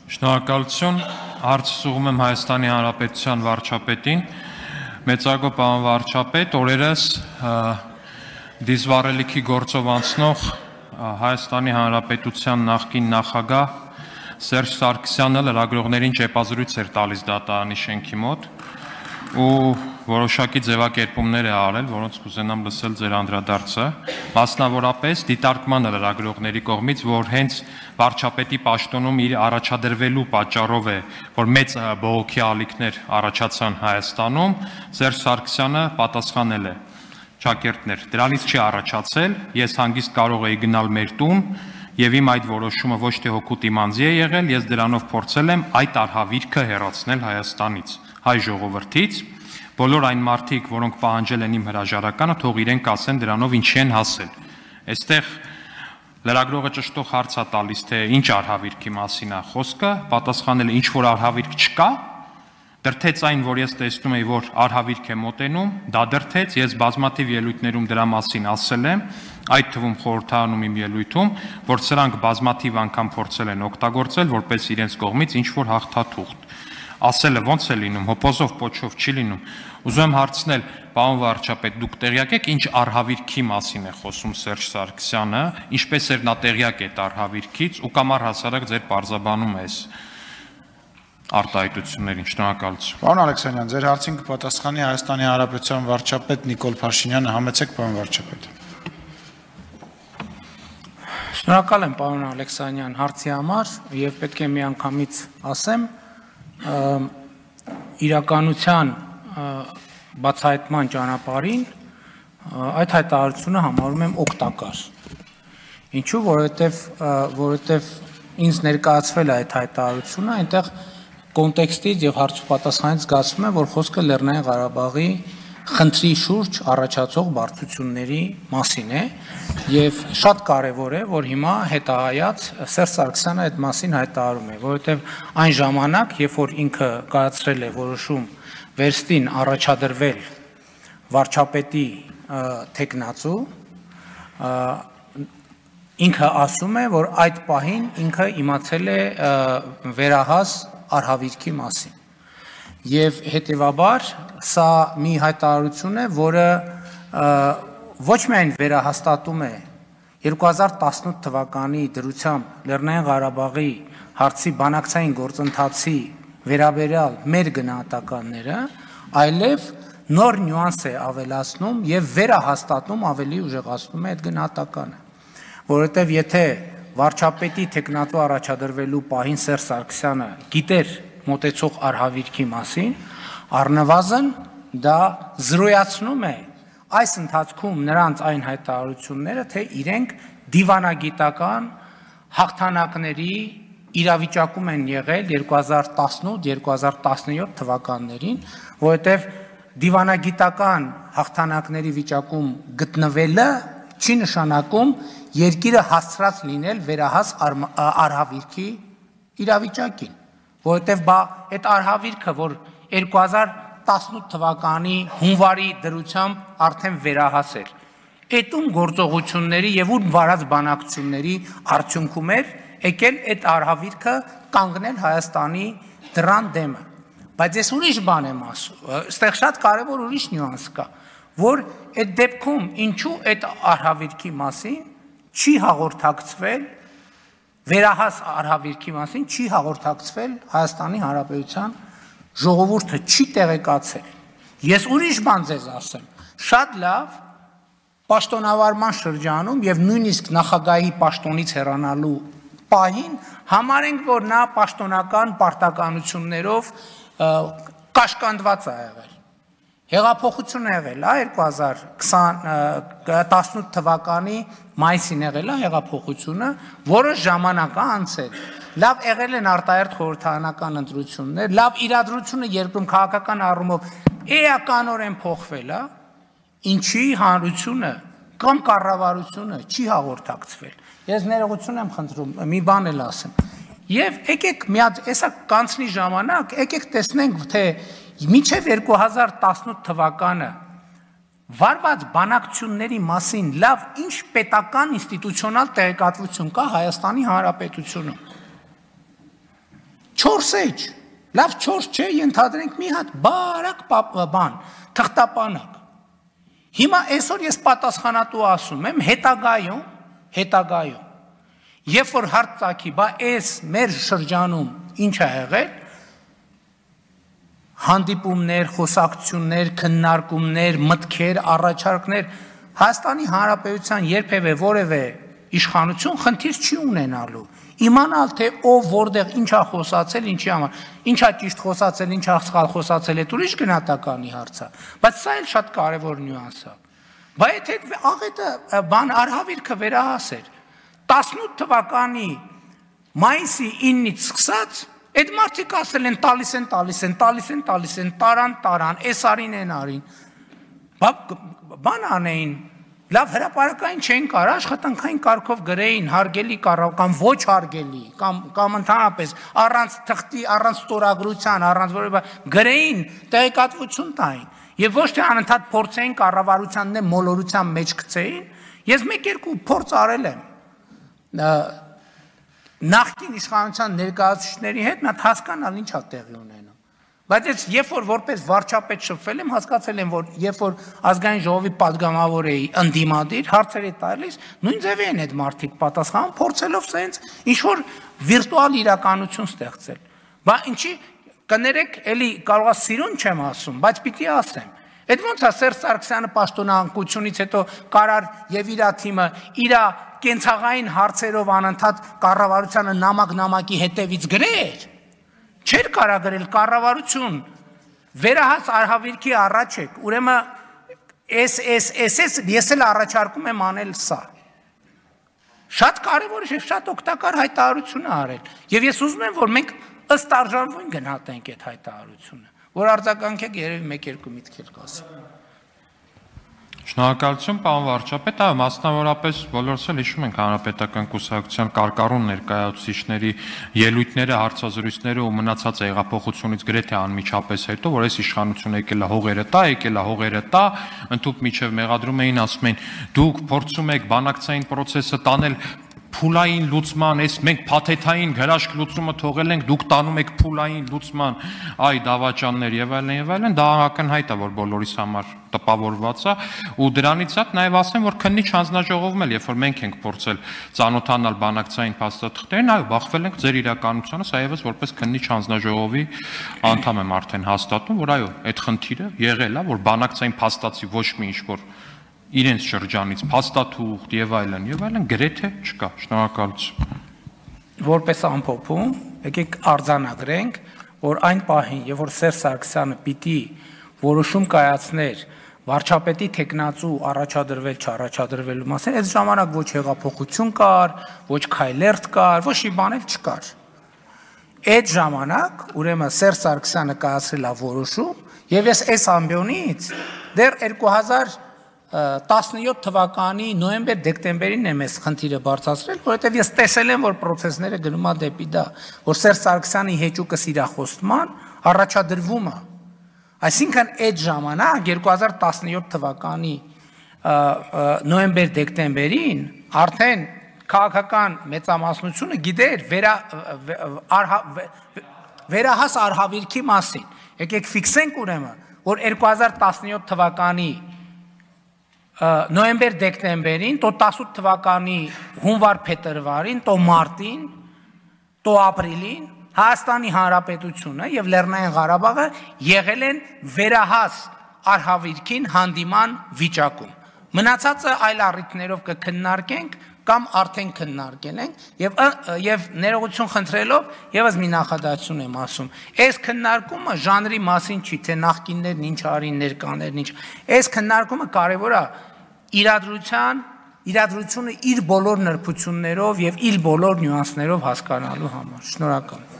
Շնորհակալություն, հարցը ուղղում եմ Հայաստանի Հանրապետության վարչապետին, մեծարգո պարոն վարչապետ, օրերս դիզվառելիքի գործով անցնող Հայաստանի Հանրապետության նախկին նախագահ Սերժ Սարգսյանը լրագրողներին ճեպազրույց էր տալիս դատարանի շենքի մոտ ու որոշակի ձևակերպումներ է արել, որոնց կուզենամ լսել ձեր անդրադարձը, մասնավորապես դիտարկման լրագրողների կողմից, որ հենց վարչապետի պաշտոնում իր առաջադրվելու պատճառով է, որ մեծ բողոքի ալիքներ առաջացան Հայաստանում, Սերժ Սարգսյանը պատասխանել է. Ճակերտներ, դրանից չի առաջացել, ես հանգիստ կարող էի գնալ մեր տուն եւ իմ այդ որոշումը ոչ թե հոգուտ իմ անձի է եղել, ես դրանով փորձել եմ այդ արհավիրքը հեռացնել Հայաստանից, հայ ժողովրդից, բոլոր այն մարդիկ, որոնք պահանջել են իմ հրաժարականը, թող իրենք ասեն դրանով ինչի են հասել։ Այստեղ լրագրողը ճշտող հարց է տալիս, թե ինչ արհավիրքի մասին է խոսքը, պատասխանել է ինչ որ արհավիրք չկա, դրթեց այն, որ ես տեսնում եի, որ արհավիրք է մոտենում, դա դրթեց, ես բազմաթիվ ելույթներում դրա մասին ասել եմ, այդ թվում խորհրդարանում իմ ելույթում, որ սրանք բազմաթիվ անգամ փորձել են օգտագործել, որպես իրենց կողմից ինչ որ հաղթաթուղթ։ Ասելը ոնց է լինում, հոպոզով պոչով չի լինում։ Ուզում եմ հարցնել, պարոն վարչապետ, դուք տեղյակ եք ինչ արհավիրքի մասին է խոսում Սերժ Սարգսյանը, ինչպես էր նա տեղյակ այդ արհավիրքից ու կամ առհասարակ ձեր պարզաբանում է այս արտահայտություններին, շնորհակալություն։ Պարոն Ալեքսանյան, ձեր հարցին կպատասխանի Հայաստանի Հանրապետության վարչապետ Նիկոլ Փաշինյանը, համեցեք պարոն վարչապետ։ Շնորհակալ եմ պարոն Ալեքսանյան հարցի համար եւ պետք է միանգամից ասեմ, իրականության բացահայտման ճանապարհին այդ հայտարարությունը համարում եմ օգտակար։ Ինչու, որովհետև ինձ ներկայացվել է այդ հայտարարությունը, այնտեղ կոնտեքստից եւ հարց ու պատասխանից զգացվում է, որ խոսքը Լեռնային Ղարաբաղի խնդրի շուրջ առաջացող բարդությունների մասին է եւ շատ կարեւոր է, որ հիմա հետահայաց Սերժ Սարգսյանը այդ մասին հայտարարում է, որովհետեւ այն ժամանակ, երբ որ ինքը կայացրել է որոշում վերստին առաջադրվել վարչապետի թեկնածու, ինքը ասում է, որ այդ պահին ինքը իմացել է վերահաս արհավիրքի մասին։ Եվ հետևաբար սա մի հայտարարություն է, որը ոչ միայն վերահաստատում է 2018 թվականի դրությամբ Լեռնային Ղարաբաղի հարցի բանակցային գործընթացի վերաբերյալ մեր գնահատականները, այլև նոր նյուանս է ավելացնում եւ վերահաստատում ավելի ուժեղացնում է այդ գնահատականը, որովհետեւ եթե վարչապետի թեկնածու առաջադրվելու պահին Սերժ Սարգսյանը գիտեր մոտեցող արհավիրքի մասին, առնվազն դա զրոյացնում է այս ընթացքում նրանց այն հայտարարությունները, թե իրենք դիվանագիտական հաղթանակների իրավիճակում են եղել 2018-2017 թվականներին, որովհետև դիվանագիտական հաղթանակների վիճակում գտնվելը չի նշանակում երկիրը հասցրած լինել վերահաս արհավիրքի իրավիճակին, որովհետև այդ արհավիրքը, որ 2018 թվականի հունվարի դրությամբ արդեն վերահաս էր, այդում գործողությունների եւ ում վարած բանակցությունների արդյունքում էր եկել այդ արհավիրքը կանգնել Հայաստանի դրան դեմը։ Բայց ես ուրիշ բան եմ ասում, այստեղ շատ կարևոր ուրիշ նյուանս կա, որ այդ դեպքում ինչու այդ արհավիրքի մասին չի հաղորդակցվել, վերահաս արհավիրքի մասին չի հաղորդակցվել Հայաստանի Հանրապետության ժողովուրդը չի տեղեկացել։ Ես ուրիշ բան ձեզ ասեմ, շատ լավ պաշտոնավարման շրջանում եւ նույնիսկ նախագահի պաշտոնից հեռանալու պահին համարենք, որ նա պաշտոնական պարտականություններով կաշկանդված է եղել։ Հեղափոխություն է եղել, 2018 թվականի մայիսին եղել է հեղափոխությունը, որը ժամանակ է անցել։ Լավ եղել են արտահերթ խորհրդարանական ընտրություններ, լավ իրադրությունը երկրում քաղաքական առումով էականորեն փոխվել է, ինչի հանրությունը կամ կառավարությունը չի հաղորդակցվել։ Ես ներողություն եմ խնդրում, մի բան էլ ասեմ։ Եվ եկեք մի հատ, հեսա կանցնի ժամանակ, եկեք տեսնենք, թե մինչև 2018 թվականը վարված բանակցությունների մասին լավ ինչ պետական ինստիտուցիոնալ տեղեկատվություն կա Հայաստանի Հանրապետությունում։ 4 էջ, լավ 4 չէ, ենթադրենք մի հատ բարակ բան, թղթապանակ։ Հիմա այսօր ես պատասխանատու ասում եմ, հետագայում, երբ որ հարց ծագի, բա այս մեր շրջանում ինչ է եղել, հանդիպումներ, խոսակցություններ, քննարկումներ, մտքեր, առաջարկներ, Հայաստանի Հանրապետության երբևէ որևէ իշխանություն խնդիր չի ունենալու։ Իմանալ թե ով որտեղ ինչ է խոսացել, ինչի համար, ինչ է ճիշտ խոսացել, ինչ է սխալ խոսացել, այդ ուրիշ գնահատականի հարց է, բայց սա էլ շատ կարևոր նյուանս է։ Բայց եթե աղետը բան արհավիրքը վերահասեր 18 թվականի մայիսի 9-ից սկսած այդ մարդիկ ասել են տալիս են, տարան, այս արին են արին, բան անեին, լավ հրապարակային չեն կար, աշխատանքային կարգով գրեին, հարգելի կամ ոչ հարգելի, կամ ընդհանրապես առանց թղթի, առանց ստորագրության, առանց որևէ գրեին, տեղեկատվություն տային, եւ ոչ թե անընդհատ փորձեին կառավարությանն է մոլորության մեջ գցեին, ես 1-2 փորձ արել եմ նախկին իշխանության ներկայացուցիչների հետ, մի հատ հասկանալ ինչ է տեղի ունենում։ Բայց ես երբ որ որպես վարչապետ շփվել եմ, հասկացել եմ, որ երբ որ ազգային ժողովի падգամավոր էի ընդդիմադիր, հարցեր է տալիս, նույն ձևի են այդ մարդիկ պատասխանում, փորձելով սենց ինչ որ վիրտուալ իրականություն ստեղծել։ Բա ինչի կներեք, էլի կարող է սիրուն չեմ ասում, բայց պիտի ասեմ։ Այդ ոնց է Սերժ Սարգսյանը պաշտոնանկությունից հետո կարար եւ իր թիմը իր կենցաղային հարցերով անընդհատ կառավարությանը նամակի հետևից գրեր։ Չէր կարա գրել կառավարություն, վերահաս արհավիրքի առաջ եք, ուրեմն ես էլ առաջարկում եմ անել սա։ Շատ կարևոր է, շատ օգտակար հայտարարություն է արել։ Եվ ես ուզում եմ, որ մենք ըստ արժանվույն գնահատենք այդ հայտարարությունը, որ արձագանքեք երևի 1-2 միտքեր կասեմ։ Շնորհակալություն, պարոն վարչապետ, այո, մասնավորապես բոլորս էլ հիշում ենք հանրապետական կուսակցության կարկառուն ներկայացուցիչների ելույթները, հարցազրույցները ու մնացած հեղափոխությունից գրեթե անմիջապես հետո, որ այս իշխանությունը եկել է հողերը տա, ընդհանուր միջև մեղադրում էին, ասում էին, դուք փորձում եք բանակցային process-ը տանել փուլային լուծման, այս մենք փաթեթային հրաշք լուծումը թողել ենք, դուք տանում եք փուլային լուծման, այ դավաճաններ եւ այլն, դա ակնհայտ է, որ բոլորիս համար տպավորված է, ու դրանից հետ նաեւ ասեմ, որ քննիչ հանձնաժողովում էլ, երբ որ մենք ենք փորձել ծանոթանալ բանակցային փաստաթղթերին, այո, բախվել ենք ձեր իրականությանը, սա եւս որպես քննիչ հանձնաժողովի անդամ եմ արդեն հաստատում, որ այո, այդ խնդիրը եղել է, որ բանակցային փաստացի ոչ մի ինչ-որ իրենց շրջանից փաստաթուղթ եւ այլն գրեթե չկա։ Շնորհակալություն։ Որպես ամփոփում, եկեք արձանագրենք, որ այն պահին, երբ որ Սերժ Սարգսյանը պիտի որոշում կայացներ վարչապետի տեխնացու առաջադրվել չառաջադրվելու մասին, այդ ժամանակ ոչ հեղափոխություն կար, ոչ քայլերթ կար, ոչ մի բան էլ չկար։ Այդ ժամանակ, ուրեմն Սերժ Սարգսյանը կայացրել է որոշում, եւ ես այս ամբիոնից դեռ 2017 թվականի նոյեմբեր-դեկտեմբերին եմ այս խնդիրը բարձրացրել, որովհետև ես տեսել եմ, որ process-ները գնում է դեպի դա, որ Սերժ Սարգսյանի հեճուկը սիրախոստման առաջադրվում է։ Այսինքն այդ ժամանակ 2017 թվականի նոյեմբեր-դեկտեմբերին արդեն քաղաքական մեծամասնությունը գիտեր վերահաս արհավիրքի մասին։ Եկեք ֆիքսենք ուրեմն, որ 2017 թվականի նոյեմբեր-դեկտեմբերին, то 18 թվականի հունվար-փետրվարին, то մարտին, то ապրիլին Հայաստանի Հանրապետությունը եւ Լեռնային Ղարաբաղը եղել են վերահաս արհավիրքին հանդիման վիճակում։ Մնացածը այլ առիթներով կքննարկենք կամ արդեն քննարկել ենք եւ ներողություն խնդրելով եւս մի նախադասություն եմ ասում։ Այս քննարկումը ժանրի մասին չի, թե նախկիններն ինչ արին, ներկաներն ինչ։ Այս քննարկումը կարեւոր է իրադրությունը իր բոլոր նրբություններով եւ իր բոլոր նյուանսներով հասկանալու համար։ Շնորհակալ եմ։